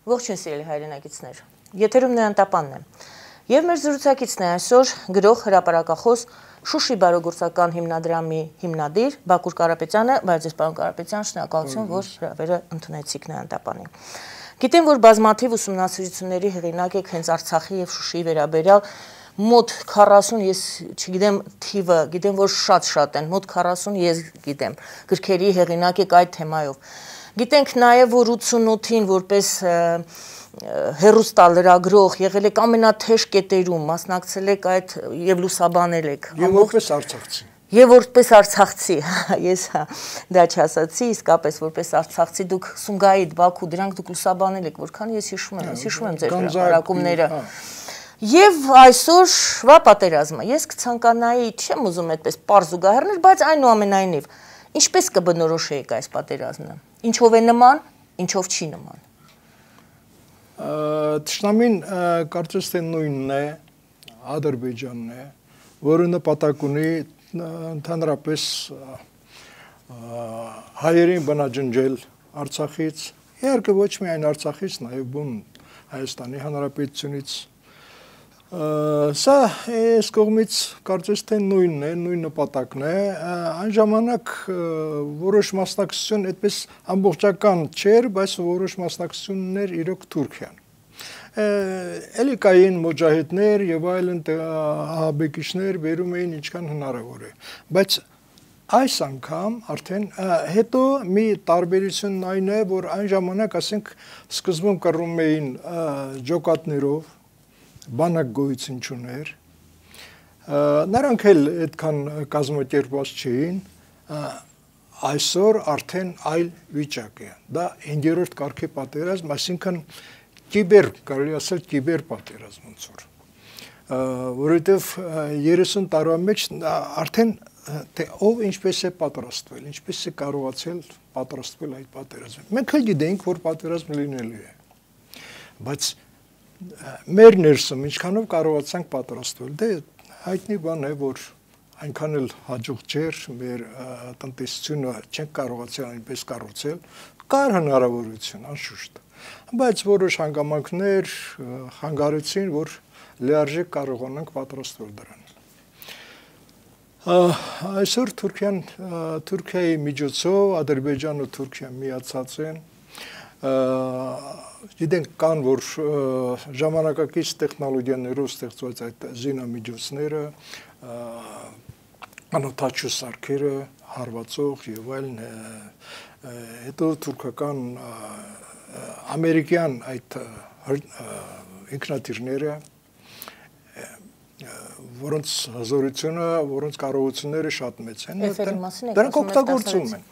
Ողջույն սիրելի հայրենակիցներ, եթերում Նեանտապանն է, և մեր զրուցակիցն է այսօր գրող հրապարակախոս Շուշի բարեգործական հիմնադրամի հիմնադիր Բակուր Կարապետյանը, բայց ես պարոն Կարապետյան, շնորհակալություն, որ հրավերը ընդունեցիք Նեանտապանին։ Գիտեմ, որ բազմաթիվ ուսումնասիրությունների հեղինակ եք հենց Արցախի և Շուշիի վերաբերյալ, մոտ 40, ես չգիտեմ թիվը, գիտեմ, որ շատ են, մոտ 40 ես գիտեմ, գրքերի հեղինակ եք այդ թեմայով։ Գիտենք նաև, որ 88-ին որպես հեռուստալրագրող եղել եք ամենաթեժ կետերում, մասնակցել եք այդ և լուսաբանել եք։ Եվ որպես արցախցի։ Եվ որպես արցախցի, ես դա չասացի, իսկապես որպես արցախցի դուք Սումգայիթ, Բաքու, դրանք դուք լուսաբանել եք, որքան ես հիշում եմ ձեր հրապարակումները։ Եվ այսօրվա պատերազմը, ես կցանկանայի, չեմ ուզում այդպես պարզ զուգահեռներ, բայց այնուամենայնիվ, ինչպես կբնորոշեիք այս պատերազմը, ինչով է նման, ինչով չի նման։ Թշնամին կարծես թե նույնն է, Ադրբեջանն է, որը նպատակ ունի ընդհանրապես հայերին բնաջնջել Արցախից, իհարկե ոչ միայն Արցախից, նաև բուն Հայաստանի Հանրապետությունից։ Սա այս կողմից կարծես թե նույնն է, նույն նպատակն է, այն ժամանակ որոշ մասնակցություն այդպես ամբողջական չէր, բայց որոշ մասնակցություններ իրոք Թուրքիան։ Էլի կային մոջահեդներ եւ այլն ահաբեկիչներ բերում էին ինչքան հնարավոր է, բայց այս անգամ արդեն հետո մի տարբերությունն այն է, որ այն ժամանակ ասենք սկզբում կռում էին ջոկատներով, բանակ գոյություն չուներ, նրանք էլ այդքան կազմակերպված չէին, այսօր արդեն այլ վիճակ է, դա 5-րդ կարգի պատերազմ, այսինքն կիբեր, կարելի ասել կիբեր պատերազմ ոնց որ, որովհետև 30 տարվա մեջ արդեն թե ով ինչպես է պատրաստվել, ինչպես է կարողացել պատրաստվել այդ պատերազմին։ Մենք էլ գիտենք, որ պատերազմ լինելու է, բայց մեր ներսում ինչքանով կարողացանք պատրաստվել, դե հայտնի բան է, որ այնքան էլ հաջող չէր, մեր տնտեսությունը չենք կարողացել այնպես կառուցել, կար հնարավորություն, անշուշտ, բայց որոշ հանգամանքներ խանգարեցին, որ լիարժեք կարողանանք պատրաստվել դրան։ Այսօր Թուրքիայի միջոցով Ադրբեջանը Թուրքիան միացած են, գիտենք կան, որ ժամանակակից տեխնոլոգիաներով ստեղծված այդ զինամիջոցները, անօդաչու սարքերը, հարվածող եւ այլն, հետո թուրքական ամերիկյան այդ ինքնաթիռները, որոնց հզորությունը, որոնց կարողությունները շատ մեծ են, դրանք օգտագործում են։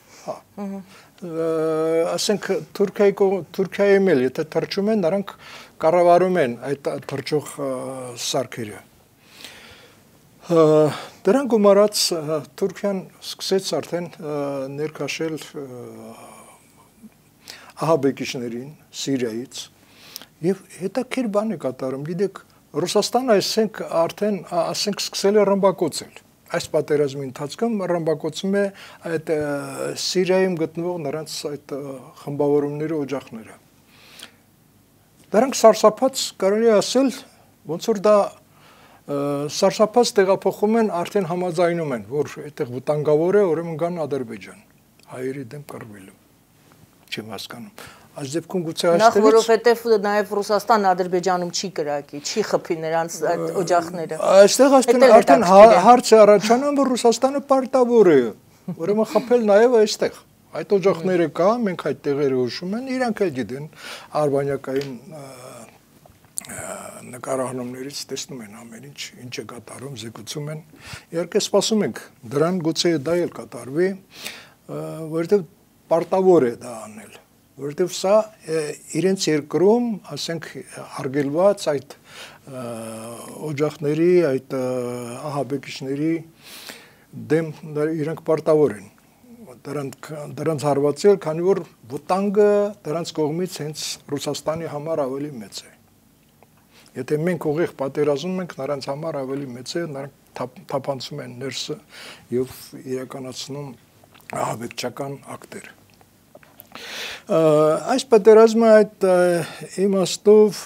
Ասենք Թուրքիայում էլ, եթե թռչում են, նրանք կառավարում են այդ թռչող սարքերը։ Դրան գումարած Թուրքիան սկսեց արդեն ներքաշել ահաբեկիչներին Սիրիայից եւ հետաքրքիր բան է կատարում, գիտեք, Ռուսաստանը արդեն ասենք սկսել է ռմբակոծել։ Այս պատերազմի ընթացքում ռմբակոծում է այդ Սիրիայում գտնվող նրանց այդ խմբավորումների օջախները։ Դրանք սարսափած կարելի ասել, ոնց որ դա սարսափած տեղափոխում են, արդեն համաձայնում են, որ այդտեղ վտանգավոր է, ուրեմն գան Ադրբեջան, հայերի դեմ կռվելու։ Չեմ հասկանում։ Այս դեպքում գուցե այստեղից Նախ որովհետև նաև Ռուսաստանն Ադրբեջանում չի կրակի, չի խփի նրանց այդ օջախները։ Այստեղ արդեն հարց է առաջանում, որ Ռուսաստանը պարտավոր է, ուրեմն խփել նաև այստեղ։ Այդ օջախները կա, մենք այդ տեղերը հուշում են, իրանք էլ գիտեն արբանյակային նկարահանումներից տեսնում են ամեն ինչ է կատարում, զեկուցում են։ Իհարկե սպասում ենք դրան, գուցե դա էլ կատարվի, որովհետև պարտավոր է դա անել։ Որովհետև սա իրենց երկրում, ասենք, արգելված այդ օջախների, այդ ահաբեկիչների դեմ իրանք պարտավոր են դրանց հարվածել, քանի որ վտանգը դրանց կողմից հենց Ռուսաստանի համար ավելի մեծ է։ Եթե մենք ուղիղ պատերազմում ենք, նրանց համար ավելի մեծ է, նրանք թափանցում են ներսը եւ իրականացնում ահաբեկչական ակտեր։ Այս պատերազմը այդ իմաստով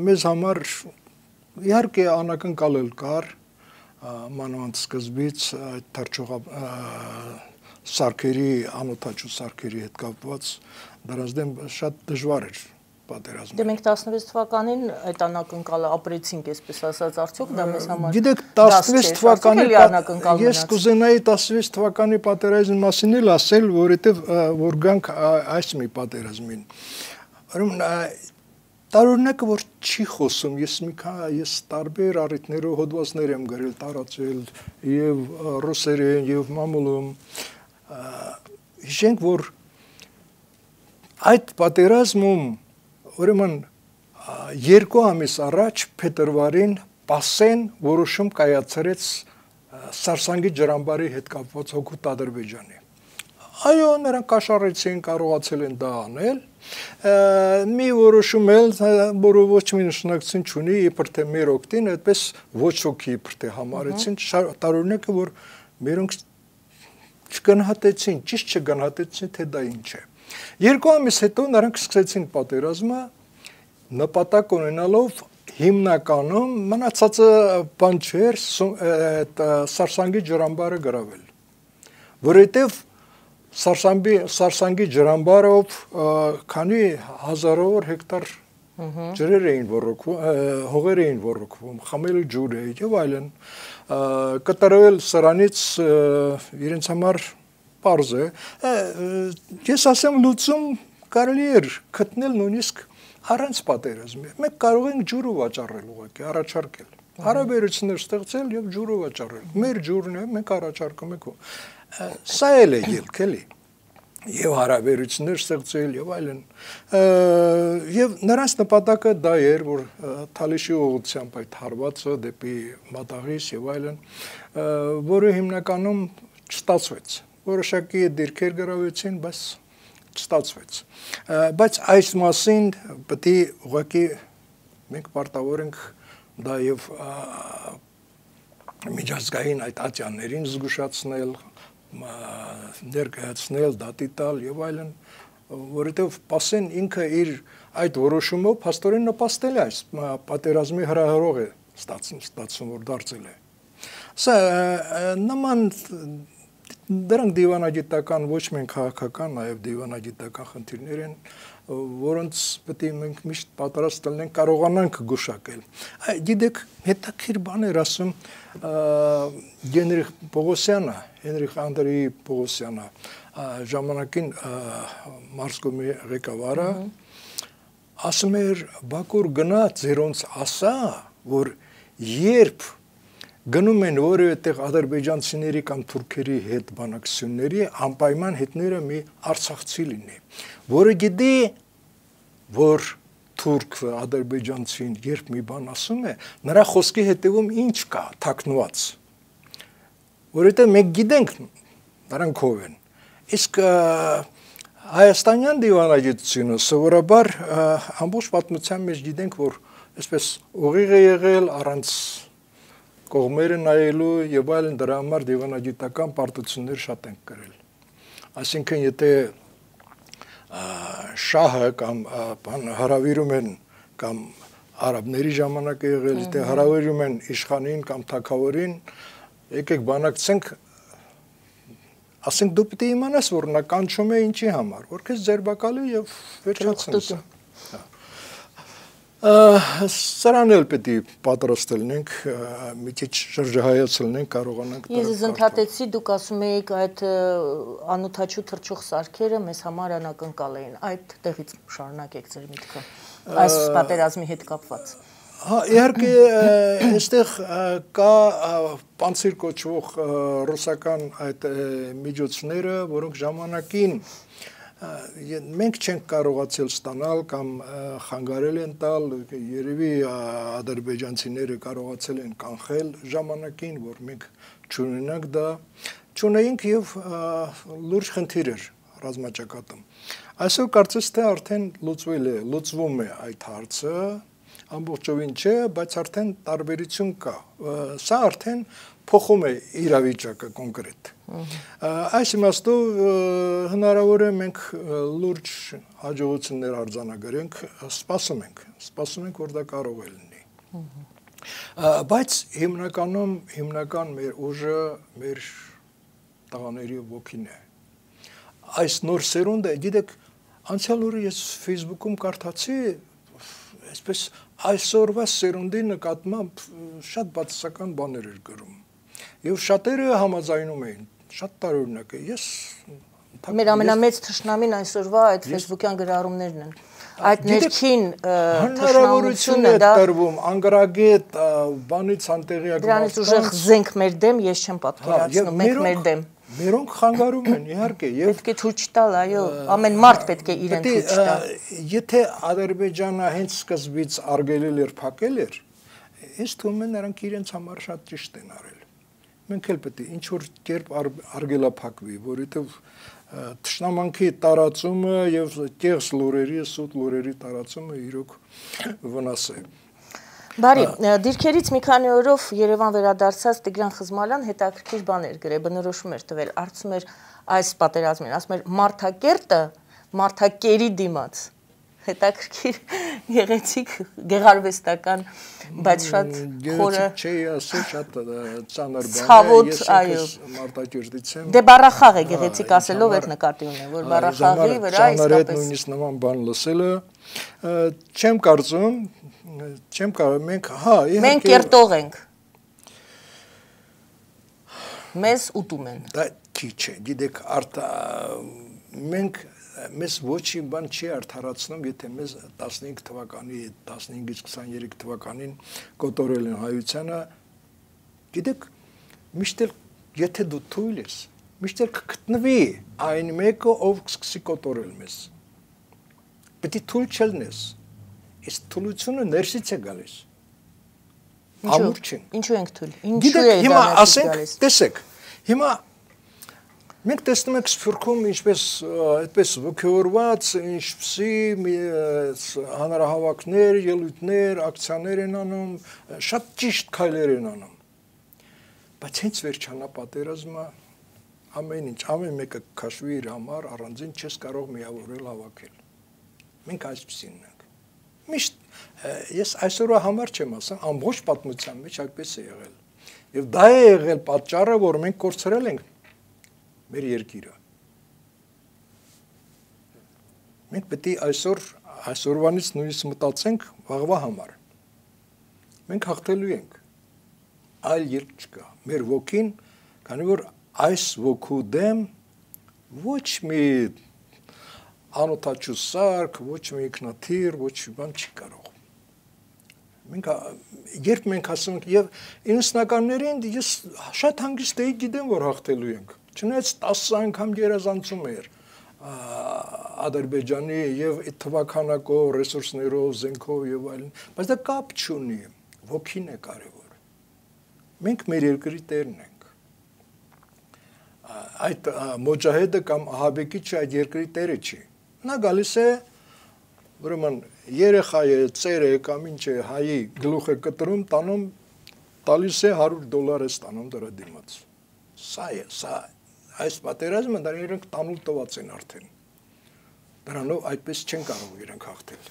մեզ համար իհարկե անակնկալել կար մանավանդ սկզբից այդ թռչող սարքերի անօթաչու սարքերի հետ կապված դրանց դեմ շատ դժվար էր պատերազմը։ Դե մենք 16 թվականին այդ անակնկալը ապրեցինք, այսպես ասած, արդյոք դա մեզ համար Գիտեք 16 թվականի ես կուզենայի 16 թվականի պատերազմի մասին էլ ասել, որովհետև որ գանք այս մի պատերազմին։ Ուրեմն տարօրինակը որ չի խոսում, ես տարբեր առիթներով հոդվածներ եմ գրել, տարածել եւ ռուսերեն եւ մամուլում հիշենք որ այդ պատերազմում ուրեմն 2 ամիս առաջ փետրվարին Պասեն որոշում կայացրեց Սարսանգի ջրամբարի հետ կապված հօգուտ Ադրբեջանի։ Այո, նրանք կաշառեցին, կարողացել են դա անել։ Մի որոշում էլ, որը ոչ մի նշանակություն չունի, իբր թե մեր օգտին, այդպես ոչ ոքի իբր թե համարեցին, տարօրինակ է, որ մերոնք չգնահատեցին, ճիշտ չգնահատեցին, թե դա ինչ է։ 2 ամիս հետո նրանք սկսեցին պատերազմը նպատակ ունենալով հիմնականում մնացածը բան չէր Սարսանգի ջրամբարը գրավել, որովհետև Սարսանգի ջրամբարով քանի հազարավոր հեկտար ջրեր էին ոռոգվում, հողեր էին ոռոգվում, խմել ջուր է եւ այլն, կտրվել սրանից իրենց համար պարզ է, ես ասեմ լուծում կարելի էր գտնել նույնիսկ առանց պատերազմի։ Մենք կարող ենք ջուրը վաճառել ուղղակի, առաջարկել։ Հարաբերություններ ստեղծել եւ ջուրը վաճառել։ Մեր ջուրն է, մենք առաջարկում ենք։ Սա էլ է ելք, էլի։ Եվ հարաբերություններ ստեղծել եւ այլն։ Եվ նրանց նպատակը դա էր, որ Թալիշի ուղղությամբ այդ հարվածը դեպի Մատաղիս եւ այլն, որը հիմնականում չստացվեց։ Որոշակի դիրքեր գրավեցին, բայց չստացվեց։ Բայց այս մասին պետք է ուղղակի մենք պարտավոր ենք դա եւ միջազգային այդ ատյաններին զգուշացնել, ներկայացնել, դատի տալ եւ այլն, որովհետեւ Պասեն ինքը իր այդ որոշումով փաստորեն նպաստել է այս պատերազմի հրահրող է ստացվում, որ դարձել է։ Սա նման դրանք դիվանագիտական ոչ միայն քաղաքական, նաև դիվանագիտական խնդիրներ են, որոնց պետք է մենք միշտ պատրաստ լինենք կարողանանք գուշակել։ Գիտեք, հետաքրքիր բան էր ասում Հենրիխ Անդրեի Պողոսյանը, ժամանակին Մարսկոմի ղեկավարը, ասում էր Բաքուր գնա ձերոնց ասա, որ երբ գնում են որևէ տեղ ադրբեջանցիների կամ թուրքերի հետ բանակցությունների, անպայման հետները մի արցախցի լինի, որը գիտի, որ թուրքը, ադրբեջանցին երբ մի բան ասում է, նրա խոսքի հետևում ինչ կա, թաքնված, որովհետև մենք գիտենք, նրանք ով են, իսկ հայաստանյան դիվանագիտությունը սովորաբար ամբողջ պատմության մեջ գիտենք, որ այսպես ուղիղ է եղել առանց կողմերը նայելու եւ այլն դրա համար դիվանագիտական պարտություններ շատ են կրել։ Այսինքն եթե շահը կամ հարավիրում են կամ արաբների ժամանակ է եղել, եթե հարավիրում են իշխանին կամ թագավորին, եկեք բանակցենք, ասենք դու պետք է իմանաս, որ նա կանչում է ինչի համար, որ քեզ ձերբակալի եւ վերջացնի։ Սրան էլ պետք է պատրաստ լինենք, մի քիչ շրջահայաց լինենք, կարողանանք։ Ես ընդհատեցի, դուք ասում եք այդ անօթաչու թռչող սարքերը մեզ համար անակնկալ էին։ Այդ տեղից շարունակեք ձեր միտքը այս պատերազմի հետ կապված։ Հա, իհարկե, այստեղ կա պանցիր կոչվող ռուսական այդ միջոցները, որոնք ժամանակին մենք չենք կարողացել ստանալ կամ խանգարել են տալ, երևի ադրբեջանցիները կարողացել են կանխել ժամանակին, որ մենք չունենանք դա, չունեինք եւ լուրջ խնդիր էր ռազմաճակատում։ Այսօր կարծես թե արդեն լուծվում է այդ հարցը, ամբողջովին չէ, բայց արդեն տարբերություն կա։ Սա արդեն փոխում է իրավիճակը կոնկրետ։ Այս իմաստով հնարավոր է մենք լուրջ հաջողություններ արձանագրենք, սպասում ենք, որ դա կարող է լինի։ Բայց հիմնական մեր ուժը մեր տղաների ոգին է։ Այս նոր սերունդը, գիտեք, անցյալ օրը ես Facebook-ում կարդացի, այսպես այսօրվա սերունդի նկատմամբ շատ բացասական բաներ էր գրում։ Եվ շատերը համաձայնում էին, շատ տարօրինակ է։ Մեր ամենամեծ թշնամին այսօրվա այդ Facebook-յան գրառումներն են։ Այդ ներքին հնարավորություն է տրվում անգրագետ բանից անտեղյակ դրանից ուժեղ զենք մեր դեմ, ես չեմ պատկերացնում, մենք մեր դեմ։ Մերոնք խանգարում են, իհարկե, եւ պետք է ցույց տալ, այո, ամեն մարդ պետք է իրեն ցույց տա։ Եթե Ադրբեջանը հենց սկզբից արգելել էր, փակել էր, ինձ թվում է նրանք իրենց համար շատ ճիշտ են արել։ Մենք էլ պետք է ինչ որ կերպ արգելափակվի, որովհետեւ թշնամանքի տարածումը եւ կեղծ լուրերի, սուտ լուրերի տարածումը իրոք վնաս է։ Բարի, դիրքերից մի քանի օրով Երևան վերադարձած Տիգրան Խզմալյան հետաքրքիր բաներ գրել, բնորոշում էր տվել, արծում էր այս պատերազմին, ասում էր մարդակերտը մարդակերի դիմաց։ Հետաքրքիր գեղեցիկ գեղարվեստական, բայց շատ խորը չէի ասել, շատ ծանր բան է, ցավոտ, այո, մարդակերտից եմ։ Դե բառախաղ է գեղեցիկ ասելով այդ նկատի ունեմ, որ բառախաղի վրա իսկապես նույնիսկ նման բան լսելը չեմ կարծում մենք, իհարկե մենք կերտող ենք։ Մեզ ուտում են։ Դա քիչ է, գիտեք, մենք մեզ ոչի բան չի արդարացնում, եթե մեզ 15 թվականի, 15-ից 23 թվականին կոտորել են հայությանը, գիտեք, միշտ էլ եթե դու թույլ ես, միշտ էլ կգտնվի այն մեկը, ով կսկսի կոտորել մեզ։ Պետք է թույլ չլնես։ Իսկ թույլությունը ներսից է գալիս։ Ամուր չի։ Ինչու ենք թույլ։ Ինչու է դա ներսից գալիս։ Տեսեք, հիմա մենք տեսնում ենք Սփյուռքում ինչպես այդպես ոգևորված, ինչպիսի հանրահավաքներ, ելույթներ, ակցիաներ են անում, շատ ճիշտ քայլեր են անում։ Բայց հենց վերջանա պատերազմը, ամեն ինչ, ամեն մեկը քաշվի իր համար, առանձին չես կարող միավորել հավաքել։ Մենք այսպեսին ենք։ Միշտ ես այսօրվա համար չեմ ասում, ամբողջ պատմության մեջ այդպես է եղել։ Եվ դա է եղել պատճառը, որ մենք կորցրել ենք մեր երկիրը։ Մենք պետք է այսօրվանից նույնիսկ մտածենք վաղվա համար։ Մենք հաղթելու ենք։ Այլ երկ չկա։ Մեր ոգին, քանի որ այս ոգու դեմ ոչ մի անօթաչու սարք, ոչ մի ինքնաթիռ, ոչ մի բան չի կարող։ Երբ մենք ասում ենք, եւ 90-ականներին ես շատ հանգիստ էի գիտեմ, որ հաղթելու ենք։ Չնայած 10 անգամ գերազանցում էր Ադրբեջանի եւ թվականակով, ռեսուրսներով, զենքով եւ այլն, բայց դա կապ չունի, ոգին է կարեւոր։ Մենք մեր երկրի տերն ենք։ Այդ մոջահեդը կամ ահաբեկիչը այդ երկրի տերը չի։ Նա գալիս է, ուրեմն երեխա է, ծեր է կամ ինչ է, հայի գլուխ է կտրում, տանում, տալիս է $100 է ստանում դրա դիմաց։ Սա է, այս պատերազմը դա իրենք տանուլ տված են արդեն։ Դրանով այդպես չեն կարող իրենք հաղթել։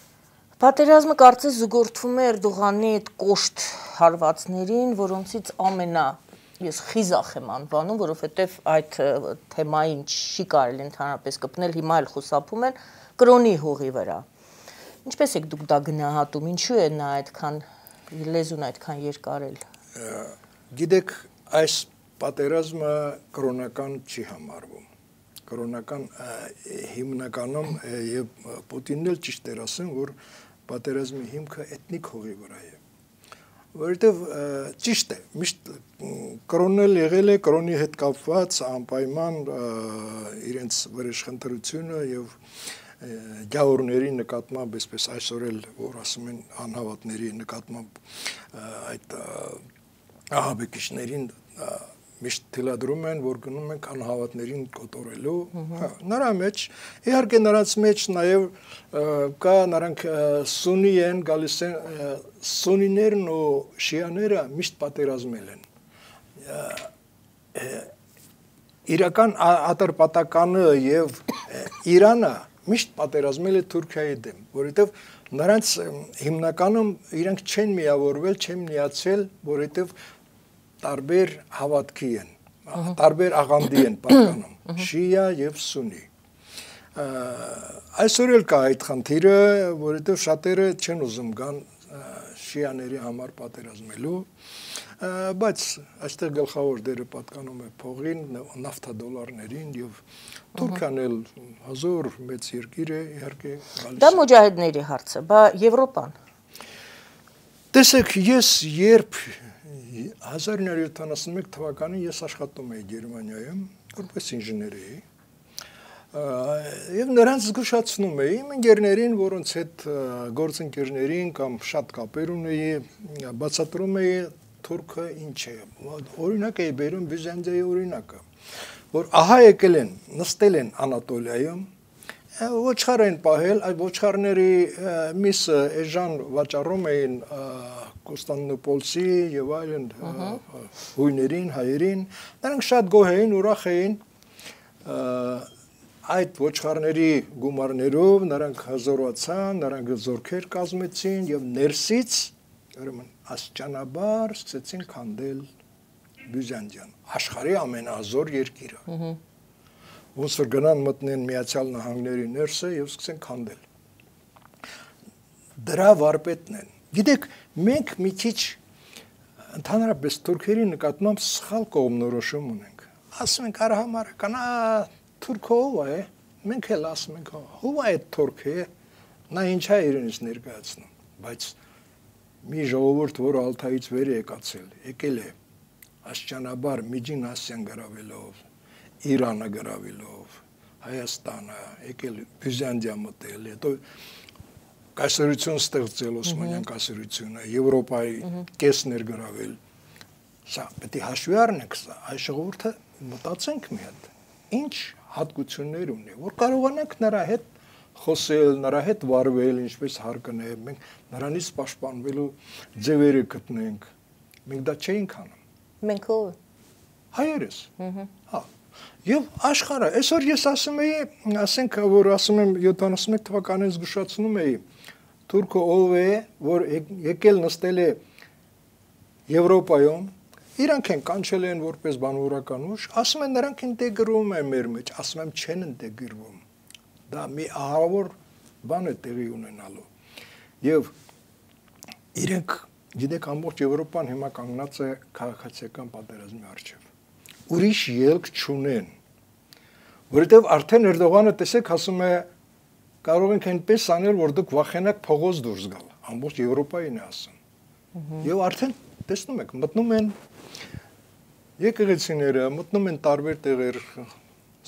Պատերազմը կարծես զուգորդվում է Էրդողանի այդ կոշտ հարվածներին, որոնցից ես խիզախ եմ անվանում, որովհետև այդ թեմային չի կարելի ընդհանրապես կպնել, հիմա էլ խուսափում են կրոնի հողի վրա։ Ինչպես եք դուք դա գնահատում, ինչու է նա այդքան լեզուն այդքան երկարել։ Գիտեք, այս պատերազմը կրոնական չի համարվում։ Կրոնական հիմնականում եւ Պուտինն էլ ճիշտ էր ասում, որ պատերազմի հիմքը էթնիկ հողի վրա է։ Որովհետև ճիշտ է, միշտ կրոնն էլ եղել է, կրոնի հետ կապված անպայման իրենց վրեժխնդրությունը եւ գաղորների նկատմամբ, այսպես այսօր էլ որ ասում են անհավատների նկատմամբ այդ ահաբեկիչներին միշտ թելադրում են, որ գնում ենք անհավատներին կոտորելու, նրա մեջ, իհարկե նրանց մեջ նաև կա նրանք սունի են, գալիս են, սունիներն ու շիաները միշտ պատերազմել են, իրական ատրպատականը եւ Իրանը միշտ պատերազմել է Թուրքիայի դեմ, որովհետեւ նրանց հիմնականում իրենք չեն միավորվել, չեն միացել, որովհետեւ տարբեր հավատքի են, տարբեր աղանդի են պատկանում, շիա եւ սունի։ Այսօր էլ կա այդ խնդիրը, որովհետեւ շատերը չեն ուզում գան շիաների համար պատերազմելու, բայց այստեղ գլխավոր դերը պատկանում է փողին, նավթադոլարներին եւ Թուրքիան էլ հազար մեծ երկիր է, իհարկե գալիս։ Դա մուջահեդների հարցը, բա Եվրոպան։ Տեսեք, ես երբ 1971 թվականին ես աշխատում էի Գերմանիայում, որպես ինժեներ էի, եւ նրանց զգուշացնում էի իմ ընկերներին, որոնց հետ գործընկերներին կամ շատ կապեր ունեի, բացատրում էի Թուրքը ինչ է, օրինակ էի բերում Բյուզանդիայի օրինակը, որ ահա եկել են, նստել են Անատոլիայում, ոչխար են պահել, այդ ոչխարների միսը էժան վաճառում էին Կոստանդնուպոլսի եւ այլն հույներին, հայերին, նրանք շատ գոհ էին, ուրախ էին այդ ոչխարների գումարներով, նրանք հզորացան, նրանք զորքեր կազմեցին եւ ներսից ուրեմն աստիճանաբար սկսեցին քանդել Բյուզանդիան, աշխարհի ամենազոր երկիրը։ Ոնց որ գնան մտնեն Միացյալ Նահանգների ներսը եւ սկսեն քանդել։ Դրա վարպետն են։ Գիտեք, մենք մի քիչ ընդհանրապես թուրքերի նկատմամբ սխալ կողմնորոշում ունենք։ Ասում ենք արհամարական, թուրքը ով է։ Մենք էլ ասում ենք, ով է թուրքը։ Նա ինչ է իրենից ներկայացնում, բայց մի ժողովուրդ, որը Ալթայից վեր է եկածել, եկել է աստիճանաբար Միջին Ասիան գրավելով, Իրանը գրավելով, Հայաստանը, եկել Բյուզանդիա մտել, հետո կայսրություն ստեղծել Օսմանյան կայսրությունը, Եվրոպայի կեսներ գրավել։ Սա պետք է հաշվի առնենք սա, այս ժողովուրդը մտածենք մի հատ, ինչ հատկություններ ունի, որ կարողանանք նրա հետ խոսել, նրա հետ վարվել, ինչպես հարկն է, մենք նրանից պաշտպանվելու ձևերը գտնենք։ Մենք դա չէինք անում։ Մենք ով։ Հայերս։ Հա։ Եվ աշխարհը, այսօր ես ասում էի, ասենք, որ ասում եմ 71 թվականին զգուշացնում էի, թուրքը ով է, որ եկել նստել է Եվրոպայում, իրանք են կանչել են որպես բանվորական ուժ, ասում են նրանք ինտեգրվում են մեր մեջ, ասում եմ չեն ինտեգրվում։ Դա մի ահավոր բան է տեղի ունենալու։ Եվ իրենք, գիտեք, ամբողջ Եվրոպան հիմա կանգնած է քաղաքացիական պատերազմի առջև։ Ուրիշ ելք չունեն։ Որովհետև արդեն Էրդողանը, տեսեք, ասում է, կարող ենք այնպես անել, որ դուք վախենաք փողոց դուրս գալ։ Ամբողջ Եվրոպային է ասում։ Եվ արդեն տեսնում եք, մտնում են եկեղեցիները, մտնում են տարբեր տեղեր,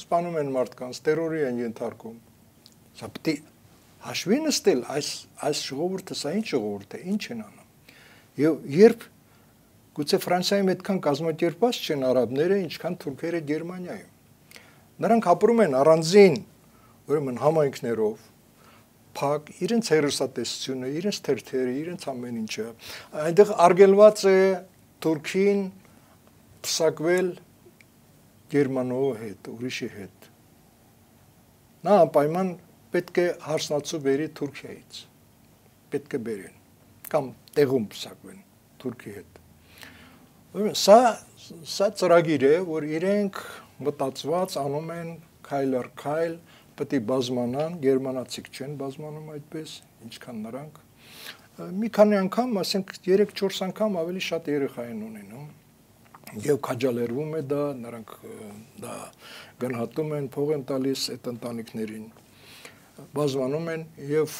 սպանում են մարդկանց, տերորի են ենթարկում։ Սա պետք է հաշվի նստել այս ժողովուրդը, սա ինչ ժողովուրդ է, ինչ են անում։ Եվ երբ գուցե Ֆրանսիայում այդքան կազմակերպված չեն արաբները, ինչքան թուրքերը Գերմանիայում։ Նրանք ապրում են առանձին, ուրեմն համայնքներով, փակ, իրենց հերոսատեսությունը, իրենց թերթերը, իրենց ամեն ինչը։ Այնտեղ արգելված է Թուրքին փսակվել Գերմանու հետ, ուրիշի հետ։ Նա անպայման պետք է հարսնացու բերի Թուրքիայից։ Պետք է բերեն կամ տեղում փսակվեն Թուրքի հետ։ Սա ծրագիր է, որ իրենք մտածված անում են քայլ առ քայլ, պետք է բազմանան, գերմանացիք չեն բազմանում այդպես, ինչքան նրանք։ Մի քանի անգամ, ասենք 3-4 անգամ ավելի շատ երեխա են ունենում։ Եվ քաջալերվում է դա, նրանք դա գնահատում են, փող են տալիս այդ ընտանիքներին, բազմանում են եւ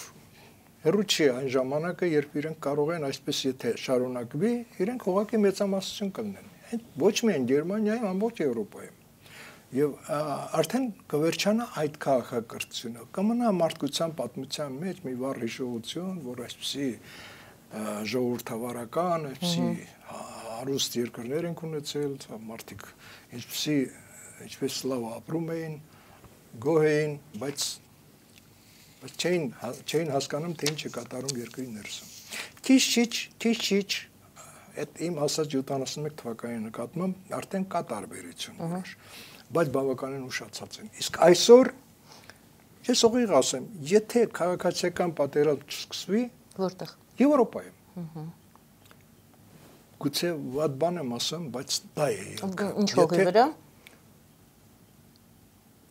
հեռու չի այն ժամանակը, երբ իրենք կարող են այսպես եթե շարունակվի, իրենք ուղղակի մեծամասնություն կլինեն։ Ոչ միայն Գերմանիայում, ամբողջ Եվրոպայում։ Եվ արդեն կվերջանա այդ քաղաքակրթությունը, կմնա մարդկության պատմության մեջ մի վառ հիշողություն, որ այսպեսի ժողովրդավարական, այսպեսի հարուստ երկրներ են ունեցել, մարդիկ ինչպես լավ ապրում էին, գոհ էին, բայց չէին հասկանում, թե ինչ է կատարում երկրի ներսում։ Քիչ-քիչ այդ իմ ասած 71 թվականի նկատմամբ արդեն կա տարբերություն որոշ, բայց բավականին ուշացած են։ Իսկ այսօր ես ուղիղ ասեմ, եթե քաղաքացիական պատերազմ չսկսվի, որտեղ Եվրոպայում։ Գուցե վատ բան եմ ասում, բայց դա է ելքը։ Ինչ հողի վրա։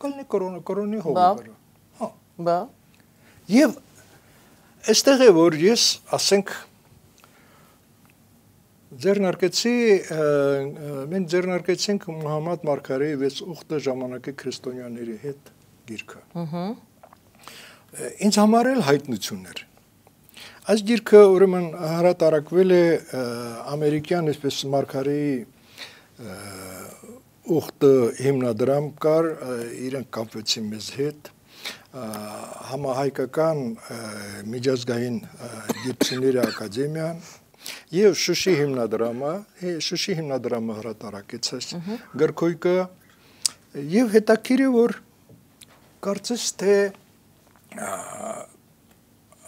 Կլինի կորոնի հողի վրա։ Հա։ Բա։ Եվ այստեղ է որ ես ասենք մենք ձեռնարկեցինք Մուհամմադ Մարգարեի 6 ուխտը ժամանակի քրիստոնյաների հետ գիրքը։ Ինձ համար էլ հայտնություն էր։ Այս գիրքը ուրեմն հրատարակվել է ամերիկյան այսպես Մարգարեի ուխտը հիմնադրամ կար, իրենք կապվեցին մեզ հետ, համահայկական միջազգային գիտությունների ակադեմիան եւ Շուշի հիմնադրամը հրատարակեց այս գրքույկը եւ հետաքրքիր է որ կարծես թե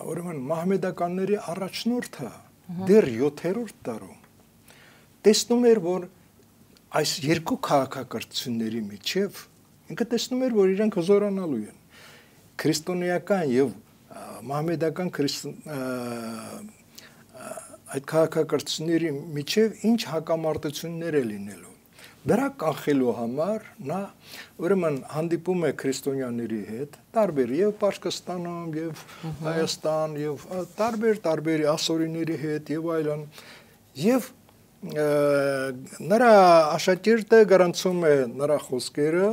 ուրեմն մահմեդականների առաջնորդը դեռ 7-րդ դարում տեսնում էր որ այս երկու քաղաքակրթությունների միջև ինքը տեսնում էր որ իրենք հզորանալու են քրիստոնեական եւ մահմեդական այդ քաղաքակրթությունների միջև ինչ հակամարտություններ է լինելու։ Դրա կանխելու համար նա ուրեմն հանդիպում է քրիստոնյաների հետ, տարբեր եւ Պարսկաստանում եւ Հայաստան եւ տարբեր ասորիների հետ եւ այլն եւ նրա աշակերտը գրանցում է նրա խոսքերը,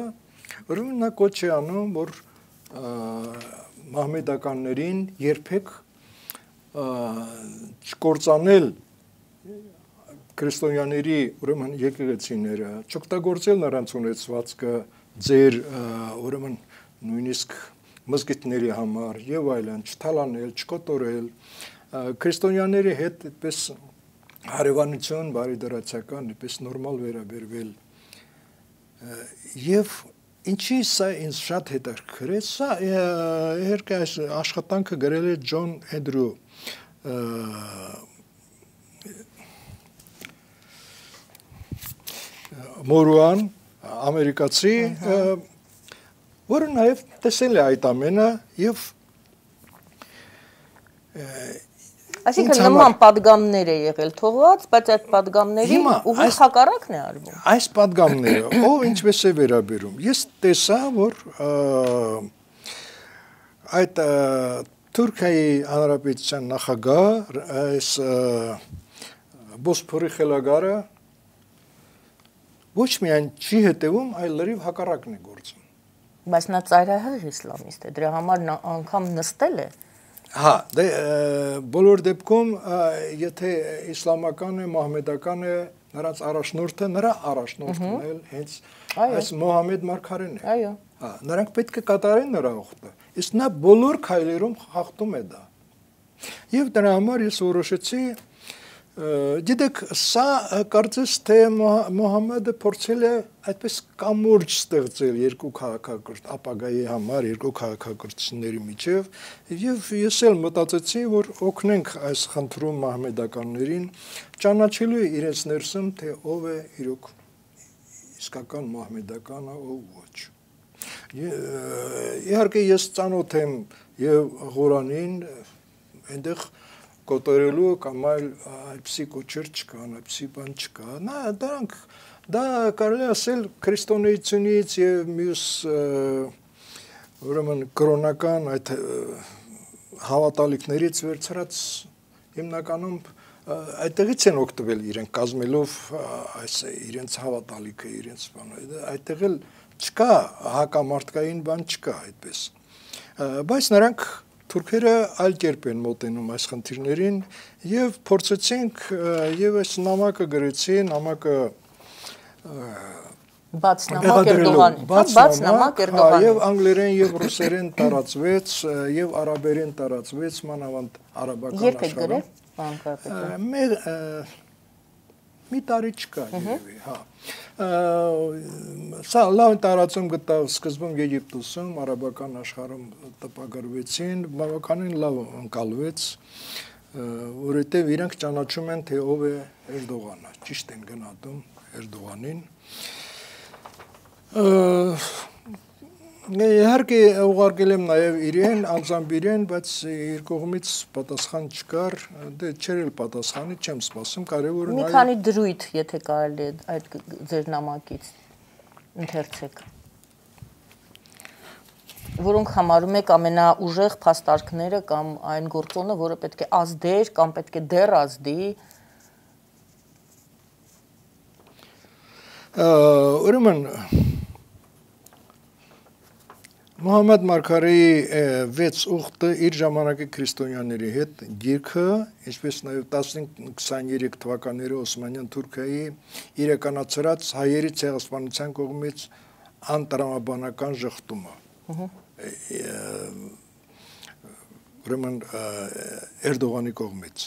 ուրեմն նա կոչ է անում որ մահմեդականներին երբեք չկործանել քրիստոնյաների ուրեմն եկեղեցիները, չօգտագործել նրանց ունեցվածքը ձեր ուրեմն նույնիսկ մզկիթների համար եւ այլն, չթալանել, չկոտորել, քրիստոնյաների հետ այդպես հարևանություն, բարիդրացական, այդպես նորմալ վերաբերվել եւ ինչի սա ինձ շատ հետաքրքրեց, սա իհարկե այս աշխատանքը գրել է Ջոն Էնդրյու Մորուան, ամերիկացի, որը նաև տեսել է այդ ամենը եւ Այսինքն նման պատգամներ է եղել թողված, բայց այդ պատգամների ուղիղ հակառակն է արվում։ Այս պատգամները ով ինչպես է վերաբերում։ Ես տեսա, որ այդ Թուրքիայի Հանրապետության նախագահ այս Բոսփորի խելագարը ոչ միայն չի հետևում, այլ լրիվ հակառակն է գործում։ Բայց նա ծայրահեղ իսլամիստ է, դրա համար նա անգամ նստել է։ Հա, դե բոլոր դեպքում եթե իսլամական է, մահմեդական է, նրանց առաջնորդը, նրա առաջնորդն էլ հենց այս Մոհամեդ Մարգարեն է։ Այո։ Հա, նրանք պետք է կատարեն նրա ուխտը։ Իսկ նա բոլոր քայլերում խախտում է դա։ Եվ դրա համար ես որոշեցի, գիտեք, սա կարծես թե Մոհամեդը փորձել է այդպես կամուրջ ստեղծել երկու քաղաքակրթ ապագայի համար, երկու քաղաքակրթությունների միջև, եւ ես էլ մտածեցի, որ օգնենք այս խնդրում մահմեդականներին ճանաչելու իրենց ներսում, թե ով է իրոք իսկական մահմեդականը, ով ոչ։ Իհարկե ես ծանոթ եմ եւ Ղուրանին, այնտեղ կոտորելու կամ այդպիսի կոչեր չկան, այդպիսի բան չկա։ Դրանք դա կարելի ասել քրիստոնեությունից եւ մյուս ուրեմն կրոնական այդ հավատալիքներից վերցրած հիմնականում այդտեղից են օգտվել իրենք կազմելով այս իրենց հավատալիքը, իրենց բանը։ Այդտեղ էլ չկա հակամարտկային բան չկա այդպես։ Բայց նրանք թուրքերը այլ կերպ են մոտենում այս խնդիրներին եւ փորձեցինք եւ այս նամակը գրեցի, նամակը բաց նամակ Էրդողան, բաց նամակ Էրդողան։ Եվ անգլերեն եւ ռուսերեն տարածվեց եւ արաբերեն տարածվեց, մանավանդ արաբական աշխարհում։ Երբ է գրել մի տարի չկա երևի, հա։ Սա լավ տարածում գտավ սկզբում Եգիպտոսում, արաբական աշխարհում տպագրվեցին, բավականին լավ ընկալվեց որովհետև իրանք ճանաչում են, թե ով է Էրդողանը, ճիշտ են գնահատում Էրդողանին։ Իհարկե ուղարկել եմ նաև իրեն, անձամբ իրեն, բայց իր կողմից պատասխան չկար, դե չէր էլ պատասխանի, չեմ սպասում, կարևորը մի քանի դրույթ, եթե կարելի է այդ ձեր նամակից ընթերցեք, որոնք համարում եք ամենաուժեղ փաստարկները կամ այն գործոնը, որը պետք է ազդեր կամ պետք է դեռ ազդի։ Ուրեմն Մոհամմեդ Մարգարեի 6 ուխտը իր ժամանակի քրիստոնյաների հետ գիրքը, ինչպես նաև 1523 թվականների Օսմանյան Թուրքիայի իրականացրած հայերի ցեղասպանության կողմից անտրամաբանական ժխտումը։ Ուրեմն Էրդողանի կողմից։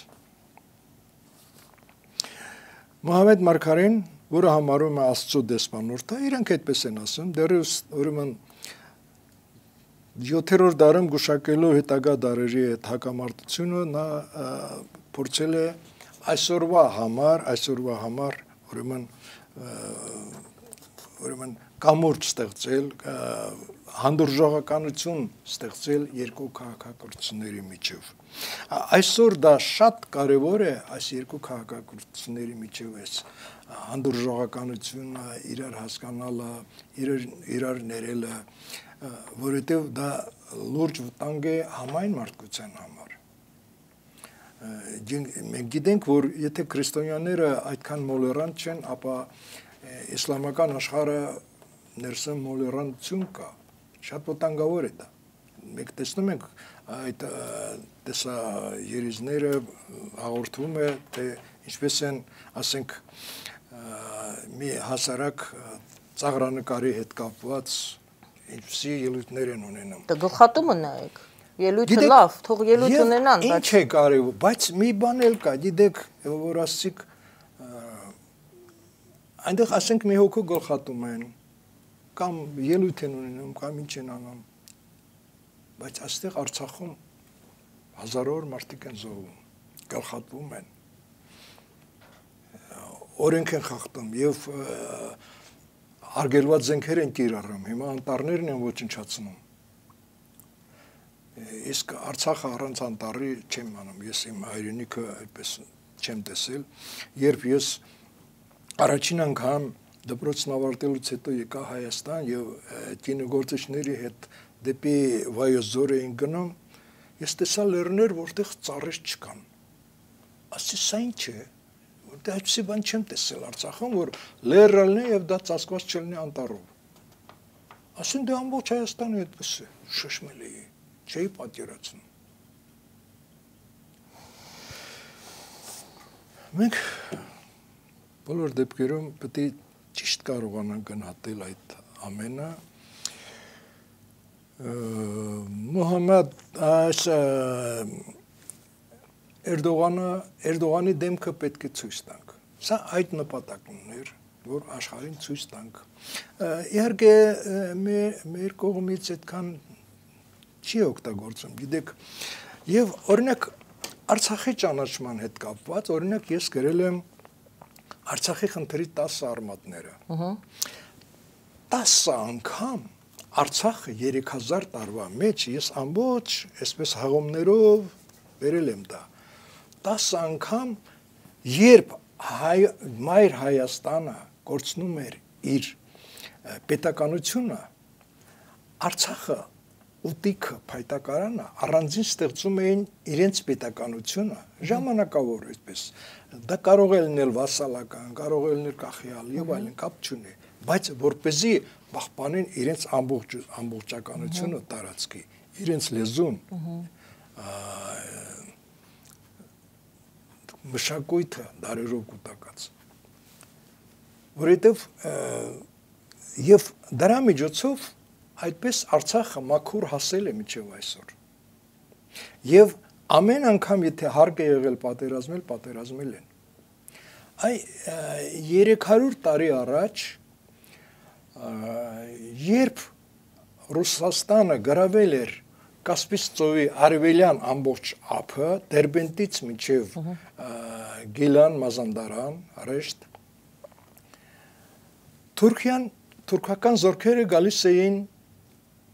Մոհամմեդ Մարգարեն, որը համարում է Աստծո դեսպանորդը, իրանք այդպես են ասում, դեռևս ուրեմն 7-րդ դարում գուշակելով հետագա դարերի հետ հակամարտությունը նա փորձել է այսօրվա համար ուրեմն կամուրջ ստեղծել, հանդուրժողականություն ստեղծել երկու քաղաքակրթությունների միջև։ Այսօր դա շատ կարևոր է այս երկու քաղաքակրթությունների միջև էս հանդուրժողականությունը, իրար հասկանալը, իրար ներելը, որովհետև դա լուրջ վտանգ է համայն մարդկության համար։ Մենք գիտենք, որ եթե քրիստոնյաները այդքան մոլերանտ չեն, ապա իսլամական աշխարհը ներսում մոլերանտություն կա, շատ վտանգավոր է դա։ Մենք տեսնում ենք այդ տեսաերիզները հաղորդվում է, թե ինչպես են, ասենք, մի հասարակ ծաղրանկարի հետ կապված ինչպիսի ելույթներ են ունենում։ Դա գլխատումը նայեք։ Ելույթը լավ, թող ելույթ ունենան, բայց ինչ է կարևոր, բայց մի բան էլ կա, գիտեք, որ ասիկ այնտեղ ասենք մի հոգու գլխատում են, կամ ելույթ են ունենում, կամ ինչ են անում։ Բայց այստեղ Արցախում հազարավոր մարդիկ են զոհվում, գլխատվում են։ Օրենք են խախտում եւ արգելված զենքեր են կիրառում, հիմա անտառներն են ոչնչացնում։ Իսկ Արցախը առանց անտառի չեմ անում, ես իմ հայրենիքը այդպես չեմ տեսել, երբ ես առաջին անգամ դպրոցն ավարտելուց հետո եկա Հայաստան եւ կինոգործիչների հետ դեպի Վայոց ձոր էին գնում, ես տեսա լեռներ, որտեղ ծառեր չկան։ Ասեցի, սա ինչ է։ Որտեղ այդպիսի բան չեմ տեսել Արցախում, որ լեռն է եւ դա ծածկված չլինի անտառով։ Ասեն դե ամբողջ Հայաստանը այդպես է, շշմելի է, չէի պատկերացնում։ Մենք բոլոր դեպքերում պետք է ճիշտ կարողանանք գնահատել այդ ամենը։ Մոհամմեդ Էրդողանի դեմքը պետք է ցույց տանք։ Սա այդ նպատակն ուներ, որ աշխարհին ցույց տանք։ Իհարկե մեր կողմից այդքան չի օգտագործում, գիտեք, եւ օրինակ Արցախի ճանաչման հետ կապված, օրինակ ես գրել եմ Արցախի խնդրի 10 արմատները։ 10 անգամ Արցախը 3000 տարվա մեջ ես ամբողջ այսպես հաղումներով վերել եմ դա։ 10 անգամ երբ Մայր Հայաստանը կորցնում էր իր պետականությունը, Արցախը ուտիքը փայտակարանը առանձին ստեղծում էին իրենց պետականությունը, ժամանակավոր այդպես։ Դա կարող է լինել վասալական, կարող է լինել կախյալ եւ այլն, կապ չունի, բայց որպեսզի պահպանեն իրենց ամբողջականությունը տարածքի, իրենց լեզուն, մշակույթը դարերով կուտակած։ Որովհետև եւ դրա միջոցով այդպես Արցախը մաքուր հասել է մինչև այսօր։ Եվ ամեն անգամ եթե հարկ է եղել պատերազմել են։ Այ 300 տարի առաջ երբ Ռուսաստանը գրավել էր Կասպից ծովի արևելյան ամբողջ ափը Դերբենտից մինչև Գիլան, Մազանդարան, Ռեշտ թուրքական զորքերը գալիս էին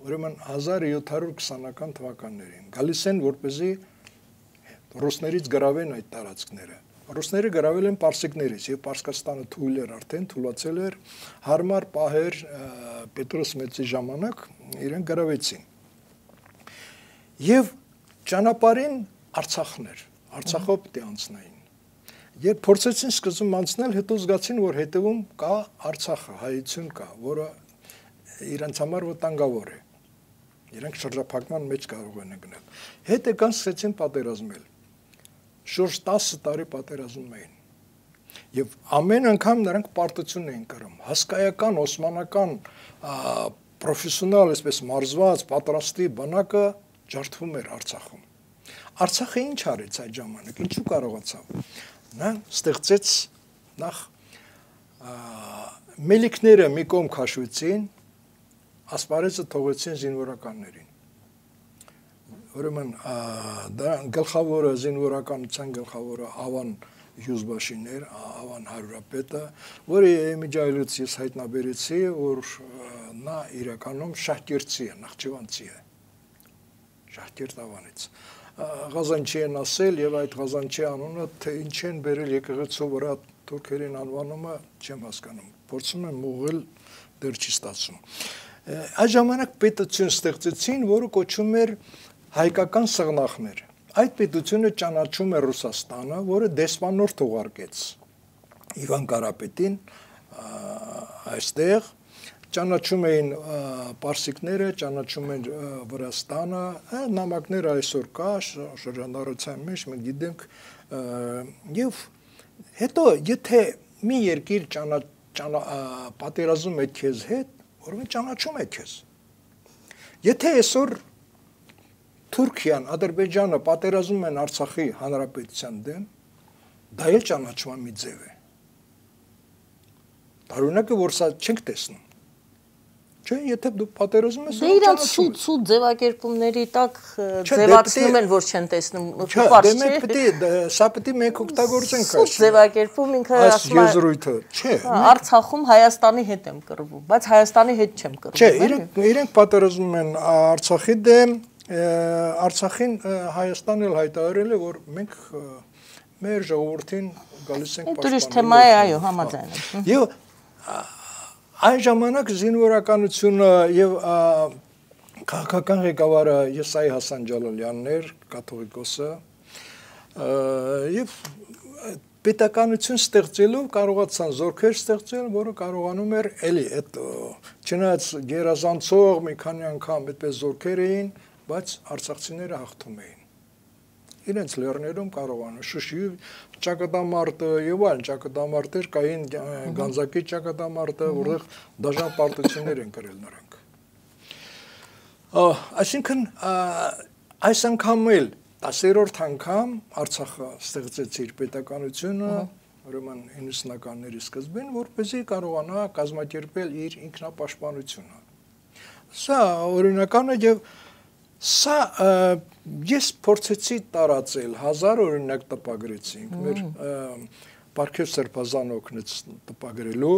ուրեմն 1720-ական թվականներին գալիս են որպեսզի ռուսներից գրավեն այդ տարածքները Ռուսները գրավել են պարսիկներից եւ Պարսկաստանը թույլ էր արդեն թույլացել էր հարմար պահեր Պետրոս Մեծի ժամանակ իրեն գրավեցին Եվ ճանապարհին Արցախներ, Արցախով պիտի անցնային։ Երբ փորձեցին սկզբում անցնել, հետո զգացին, որ հետևում կա Արցախը, հայություն կա, որը իրենց համար վտանգավոր է։ Իրենք շրջափակման մեջ կարող են գնել։ Հետ եկան սկսեցին պատերազմել։ Շուրջ 10 տարի պատերազմում էին։ Եվ ամեն անգամ նրանք պարտություն էին կրում։ Հսկայական օսմանական պրոֆեսիոնալ, այսպես մարզված, պատրաստի բանակը ջարդվում էր Արցախում։ Արցախը ինչ արեց այդ ժամանակ, ինչու կարողացավ։ Նա ստեղծեց նախ մելիքները մի կողմ քաշվեցին, ասպարեզը թողեցին զինվորականներին։ Ուրեմն դա գլխավորը զինվորականության գլխավորը Ավան Հյուզբաշիներ, Ավան Հարուրապետը, որը իմիջայլուց ես հայտնաբերեցի, որ նա իրականում շահկերտցի է, նախճիվանցի է։ Շահկերտ Ավանից։ Ղազանչի են ասել եւ այդ Ղազանչի անունը թե ինչ են բերել եկեղեցու վրա թուրքերին անվանումը չեմ հասկանում։ Փորձում եմ ուղղել դեռ չի ստացվում։ Այդ ժամանակ պետություն ստեղծեցին, որը կոչվում էր հայկական սղնախներ։ Այդ պետությունը ճանաչում է Ռուսաստանը, որը դեսպանորդ ուղարկեց Իվան Կարապետին այստեղ ճանաչում էին պարսիկները, ճանաչում են Վրաստանը, նամակները այսօր կա շրջանառության մեջ, մենք գիտենք, եւ հետո եթե մի երկիր պատերազում է քեզ հետ, ուրեմն ճանաչում է քեզ։ Եթե այսօր Թուրքիան, Ադրբեջանը պատերազում են Արցախի հանրապետության դեմ, դա էլ ճանաչման մի ձև է։ Տարօրինակը որ սա չենք տեսնում։ Չէ, եթե դու պատերազում ես, իրանց սուտ ձևակերպումների տակ ձևացնում են, որ չեն տեսնում, պարզ չէ։ Սա պետք է մենք օգտագործենք այս ձևակերպում ինքը ասում է եզրույթը, չէ։ Արցախում Հայաստանի հետ եմ կռվում, բայց Հայաստանի հետ չեմ կռվում։ Չէ, իրենք պատերազում են Արցախի դեմ, Արցախին Հայաստանն էլ հայտարարել է, որ մենք մեր ժողովրդին գալիս ենք պաշտպանել։ Ուրիշ թեմա է, այո, համաձայն եմ։ Եվ Այն ժամանակ զինվորականությունը եւ քաղաքական ղեկավարը Եսայի Հասան Ջալալյանն էր, կաթողիկոսը, եւ պետականություն ստեղծելով կարողացան զորքեր ստեղծել, որը կարողանում էր էլի այդ չնայած գերազանցող մի քանի անգամ այդպես զորքեր էին, բայց արցախցիները հաղթում էին։ Իրենց լեռներում կարողանում Շուշիի ճակատամարտը եւ այլն ճակատամարտեր կային Գանձակի ճակատամարտը, որտեղ դաժան պարտություններ են կրել նրանք։ Այսինքն այս անգամ էլ 10-րդ անգամ Արցախը ստեղծեց իր պետականությունը, ուրեմն 90-ականների սկզբին, որպեսզի կարողանա կազմակերպել իր ինքնապաշտպանությունը։ Սա օրինական է եւ Սա ես փորձեցի տարածել 1000 օրինակ տպագրեցինք մեր Պարքև Սրբազանը օգնեց տպագրելու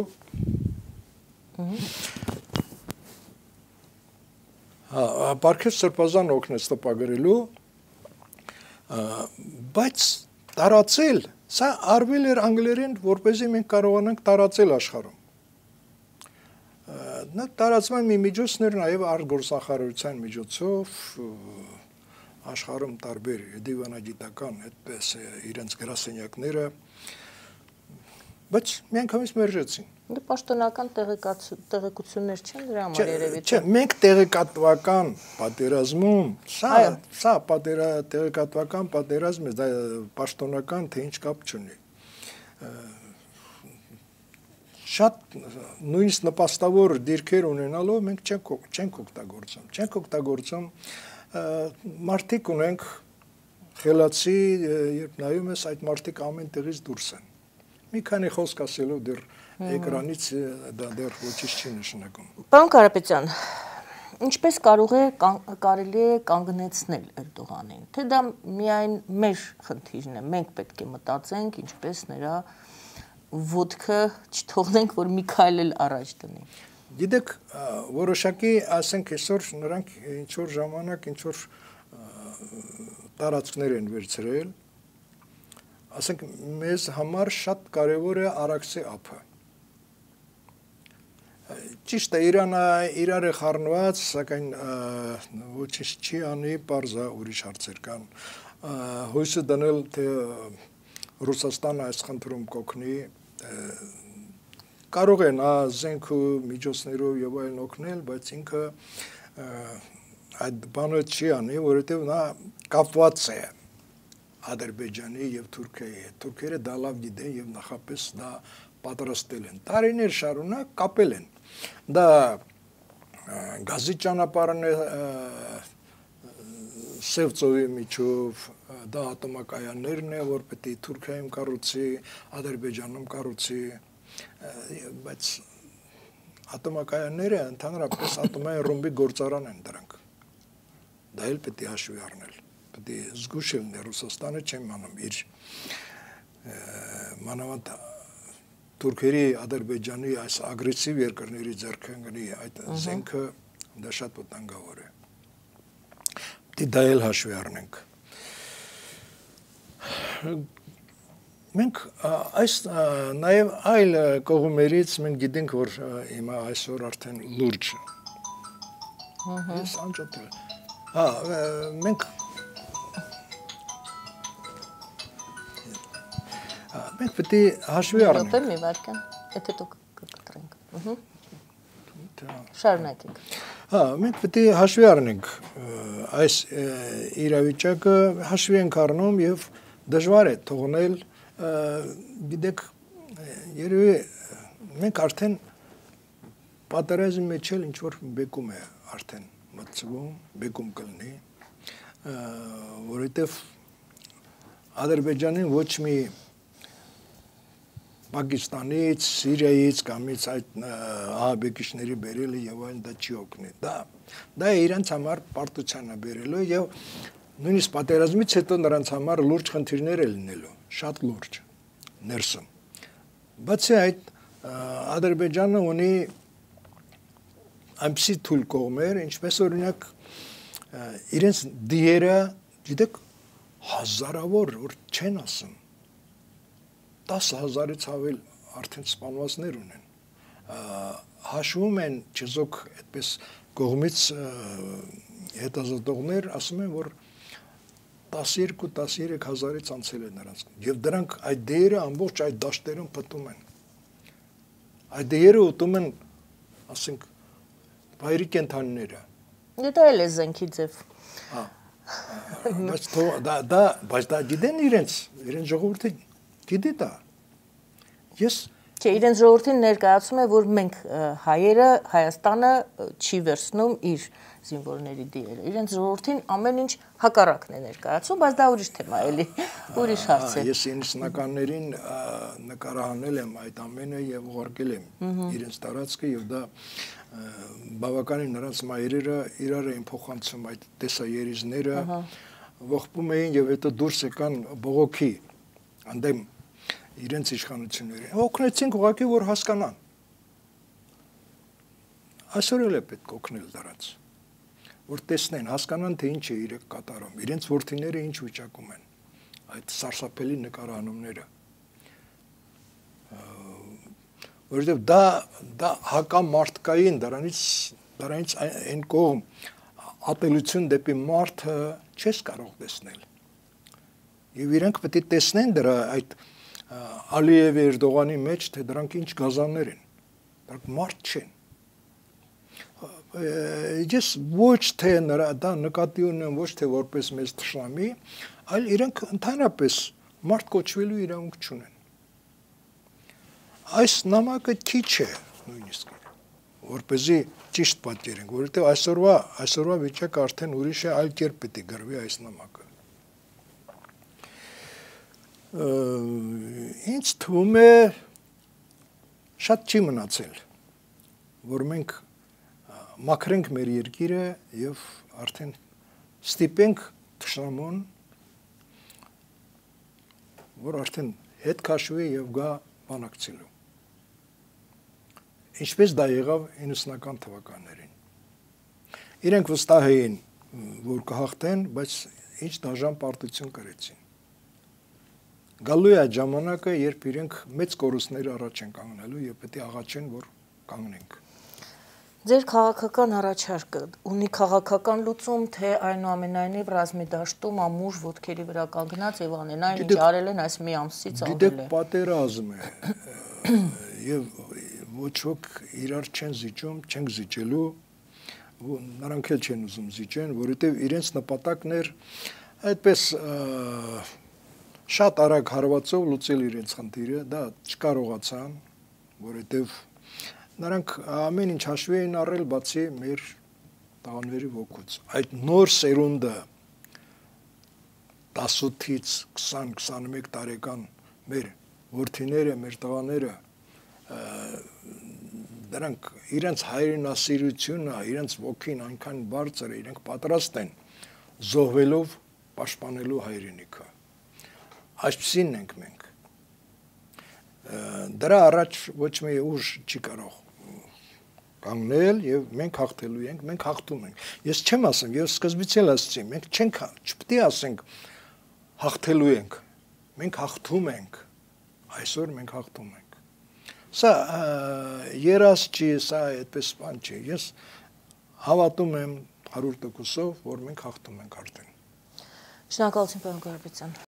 Պարքև Սրբազանը օգնեց տպագրելու բայց տարածել սա արվել էր անգլերեն որպեսզի մենք կարողանանք տարածել աշխարհում Նա տարածման մի միջոցներ նաև արտգործնախարարության միջոցով աշխարհում տարբեր դիվանագիտական այդպես իրենց գրասենյակները բայց միանգամից մերժեցին։ Դե պաշտոնական տեղեկություններ չեն դրա համար երևի։ Չէ, մենք տեղեկատվական պատերազմում, սա տեղեկատվական պատերազմ է, դա պաշտոնական թե ինչ կապ չունի։ Շատ նույնիսկ նպաստավոր դիրքեր ունենալով մենք չենք օգտագործում մարդիկ ունենք խելացի երբ նայում ես այդ մարդիկ ամեն տեղից դուրս են մի քանի խոսք ասելով դեռ էկրանից դա դեռ ոչինչ չի նշանակում Պարոն Կարապետյան ինչպես կարելի է կանգնեցնել Էրդողանին, թե դա միայն մեր խնդիրն է, մենք պետք է մտածենք, ինչպես նրա ոտքը չթողնենք, որ մի քայլ էլ առաջ դնի։ Գիտեք, որոշակի, ասենք այսօր նրանք ինչ որ ժամանակ ինչ որ տարածքներ են վերցրել, ասենք մեզ համար շատ կարևոր է Արաքսի ափը։ Ճիշտ է, Իրանը իրար է խառնված, սակայն ոչինչ չի անի, պարզ է, ուրիշ հարցեր կան։ Հույսը դնել, թե Ռուսաստանը այս խնդրում կօգնի, կարող է նա զենք ու միջոցներով եւ այլն օգնել, բայց ինքը այդ բանը չի անի, որովհետեւ նա կապված է Ադրբեջանի եւ Թուրքիայի հետ։ Թուրքերը դա լավ գիտեն եւ նախապես դա պատրաստել են։ Տարիներ շարունակ կապել են։ Դա գազի ճանապարհն է Սև ծովի միջով, դա ատոմակայաններն է, որ պետք է Թուրքիայում կառուցի, Ադրբեջանում կառուցի, բայց ատոմակայանները ընդհանրապես ատոմային ռումբի գործարան են դրանք։ Դա էլ պետք է հաշվի առնել։ Պետք է զգուշ լինել Ռուսաստանը չեմ անում իր մանավանդ Թուրքերի, Ադրբեջանի այս ագրեսիվ երկրների ձեռքընկնի այդ զենքը դա շատ վտանգավոր է։ Դա էլ հաշվի առնենք։ Մենք այս նաև այլ կողմերից մենք գիտենք, որ հիմա այսօր արդեն լուրջ ես անջատել։ Մենք պետք է հաշվի առնենք։ Մի վարքան, եթե դուք կկտրենք։ Շարունակենք։ Մենք պետք է հաշվի առնենք այս իրավիճակը, հաշվի ենք առնում եւ դժվար է թողնել, գիտեք, երևի մենք արդեն պատերազմի մեջ էլ ինչ որ բեկում է արդեն մտցվում, բեկում կլինի, որովհետեւ Ադրբեջանին ոչ մի Պակիստանից, Սիրիայից կամից այդ ահաբեկիչների բերելը եւ այլն դա չի օգնի։ Դա իրենց համար պարտության է բերելու եւ նույնիսկ պատերազմից հետո նրանց համար լուրջ խնդիրներ է լինելու, շատ լուրջ ներսում։ Բացի այդ Ադրբեջանը ունի այնպիսի թույլ կողմեր, ինչպես օրինակ իրենց դիերը, գիտեք, հազարավոր որ չեն ասում 10,000-ից ավել արդեն սպանվածներ ունեն, հաշվում են չեզոք այդպես կողմից հետազոտողներ ասում են, որ 12-13 հազարից անցել է նրանց, և դրանք այդ դերը ամբողջ այդ դաշտերում պտում են, այդ դերը ուտում են, ասենք, վայրի կենթանիները։ Դա էլ է զենքի ձև։ Բայց դա գիտեն իրենց ժողովուրդը գիտի դա։ Չէ, իրենց ժողովրդին ներկայացում է, որ մենք հայերը, Հայաստանը չի վերցնում իր զինվորների դիերը։ Իրենց ժողովրդին ամեն ինչ հակառակն է ներկայացում, բայց դա ուրիշ թեմա էլի, ուրիշ հարց է։ Ես 90-ականներին նկարահանել եմ այդ ամենը եւ ուղարկել եմ իրենց տարածքը եւ դա բավականին նրանց մայրերը իրար էին փոխանցում այդ տեսաերիզները, ողբում էին եւ հետո դուրս եկան բողոքի անդեմ իրենց իշխանությունների։ Օգնեցինք ուղղակի որ հասկանան։ Այսօր էլ է պետք օգնել դրանց, որ տեսնեն, հասկանան թե ինչ է իրենք կատարում, իրենց որդիները ինչ վիճակում են, այդ սարսափելի նկարահանումները։ Որովհետև դա հակամարտկային, դրանից այն կողմ ատելություն դեպի մարդը չես կարող տեսնել։ Եվ իրենք պետք է տեսնեն դրա այդ Ալիևի Էրդողանի մեջ, թե դրանք ինչ գազաններ են, դրանք մարդ չեն։ Ես ոչ թե դա նկատի ունեմ, ոչ թե որպես մեզ թշնամի, այլ իրենք ընդհանրապես մարդ կոչվելու իրավունք չունեն։ Այս նամակը քիչ է նույնիսկ, որպեսզի ճիշտ պատկերենք, որովհետև այսօրվա վիճակը արդեն ուրիշ է, այլ կերպ պետք է գրվի այս նամակը։ Ինձ թվում է շատ չի մնացել, որ մենք մաքրենք մեր երկիրը եւ արդեն ստիպենք թշնամուն, որ արդեն հետ քաշվի եւ գա բանակցելու։ Ինչպես դա եղավ 90-ական թվականներին։ Իրենք վստահ էին, որ կհաղթեն, բայց ինչ դաժան պարտություն կրեցին։ Գալու է այդ ժամանակը, երբ իրենք մեծ կորուստներ առաջ են կանգնելու եւ պետք է աղաչեն, որ կանգնենք։ Ձեր քաղաքական առաջարկը ունի քաղաքական լուծում, թե այնուամենայնիվ ռազմի դաշտում ամուր ոտքերի վրա կանգնած եւ անեն այն, ինչ արել են այս մի ամսից ավել է։ Գիտեք, պատերազմ է եւ ոչ ոք իրար չեն զիջում, չենք զիջելու, նրանք էլ չեն ուզում զիջեն, որովհետեւ իրենց նպատակն էր այդպես շատ արագ հարվածով լուծել իրենց խնդիրը, դա չկարողացան, որովհետեւ նրանք ամեն ինչ հաշվի էին առել, բացի մեր տղաների ոգուց։ Այդ նոր սերունդը 18-ից 20-21 տարեկան մեր որդիները, մեր տղաները դրանք իրենց հայրենասիրությունը, իրենց ոգին այնքան բարձր է, իրենք պատրաստ են զոհվելով պաշտպանելու հայրենիքը։ Այսպիսին ենք մենք։ Դրա առաջ ոչ մի ուժ չի կարող կանգնել եւ մենք հաղթելու ենք, մենք հաղթում ենք։ Ես չեմ ասում, ես սկզբից էլ ասացի, մենք չպետք է ասենք հաղթելու ենք։ Մենք հաղթում ենք։ Այսօր մենք հաղթում ենք։ Սա երաս չի, սա այդպես բան չի։ Ես հավատում եմ 100%-ով, որ մենք հաղթում ենք արդեն։ Շնորհակալություն, պարոն Կարապետյան։